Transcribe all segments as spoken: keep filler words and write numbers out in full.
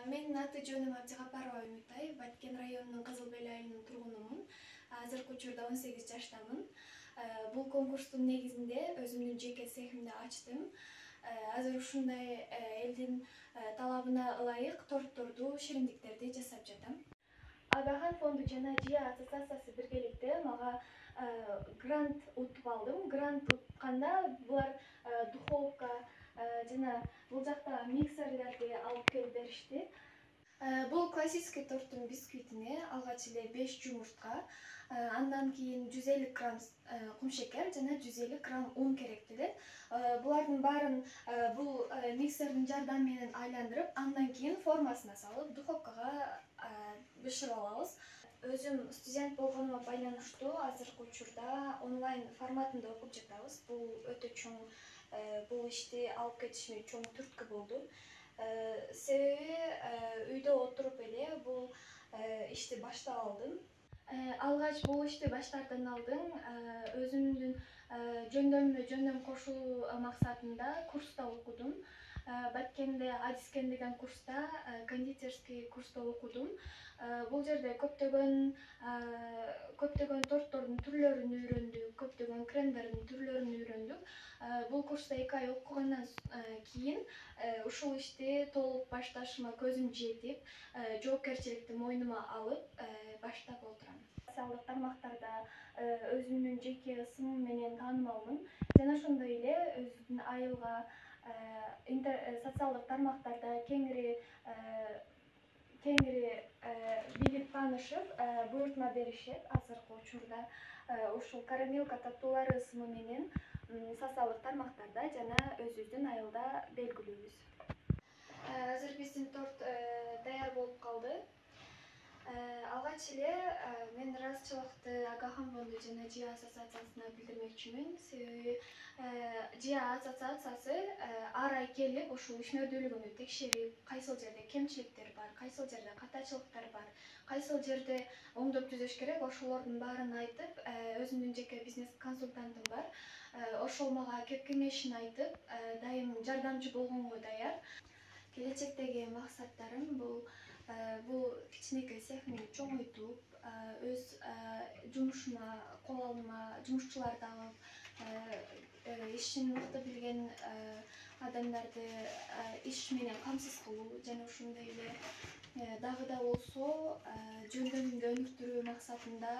Менин аты жөнүм Абдыгапарова Үмүтай, Баткен районунун Кызыл Бел айылынын тургунумун. Азыркы учурда он сегиз жаштамын. Бул конкурстун негизинде өзүмдүн жеке цехимди ачтым. Азыр ушундай элдин талабына ылайык тортторду, шириндиктерди жасап жатам. Агахан фонду жана Жия ассоциациясы биргеликте мага грант утуп алдым. Грант утканда булар духовка жана бул жакта миксерлерди алып келип беришти. Бул классический торттун бисквитине алгач эле беш жумуртка, андан кийин жүз элүү грамм кумшекер жана жүз элүү грамм ун керек делет. Булардын баарын бул миксердин жардамы менен айландырып, андан кийин формасына салып, духовкага бышырып алабыз. Өзүм студент болгонума байланыштуу азыркы учурда онлайн форматында окуп жатабыз. Бул өтө чоң, бул ишти алып кетишиме чоң түрткү болду. Себеби үйдө отуруп эле бул ишти баштап алдым. Алгач бул ишти баштаардан алдын өзүмдүн жөндөмүмө жөндөм кошуу максатында курста окудум. Баткенде Адискен деген курста, кондитерский курста окудум. Бул жерде көптөгөн көптөгөн торттордун түрлөрүн үйрөндүк, көптөгөн кремдердин түрлөрүн үйрөндүк. Бул курста эки ай окугандан кийин ушул ишти толук башташыма көзүм жетип, жоопкерчиликти мойнума алып баштап отурам. Социалдык тармактарда өзүмдүн жеке ысымым менен таанымалмын жана ошондой эле өзүмдүн айылга социалдык тармактарда кеңири кеңири билип таанышып, буйртма беришет. Азыркы учурда ушул карамелка таттуулары ысымы менен социалдык тармактарда жана өзүбүздүн айылда белгилүүбүз. Азыр биздин торт даяр болуп калды. Алгач эле мен ыраазычылыкты Агахан фонду жана Жия ассоциациясына билдирмекчимин. Себеби Жия ассоциациясы ар ай келип ушул ишмердүүлүгүмдү текшерип, кайсыл жерде кемчиликтер бар, кайсыл жерде катачылыктар бар, кайсыл жерде оңдоп түзөш керек, ошолордун баарын айтып, өзүмдүн жеке бизнес консультантым бар. Ошол мага кеп кеңешин айтып, дайым жардамчы болгонго даяр. Келечектеги максаттарым бул бул кичинекей цехимди чоңойтуп, өз жумушума, кол алма жумушчуларды алып, ишин мыкты билген адамдарды иш менен камсыз кылуу жана ошондой эле дагы да болсо жөндөмүмдү өнүктүрүү максатында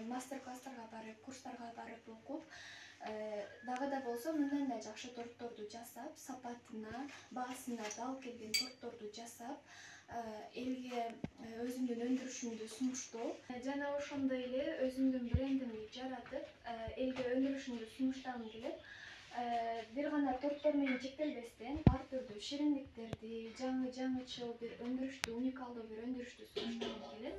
мастер-класстарга барып, курстарга барып окуп, дагы да болсо мындан да жакшы тортторду жасап, сапатына, баасына дал келген тортторду жасап, элге өзүмдүн өндүрүшүмдү сунуштоо жана ошондой эле өзүмдүн брендимди жаратып, элге өндүрүшүмдү сунуштагым келет. Бир гана торттор менен чектелбестен, ар түрдүү шириндиктерди, жаңы жаңычыл бир өндүрүштү, уникалдуу бир өндүрүштү сунуштагым келет.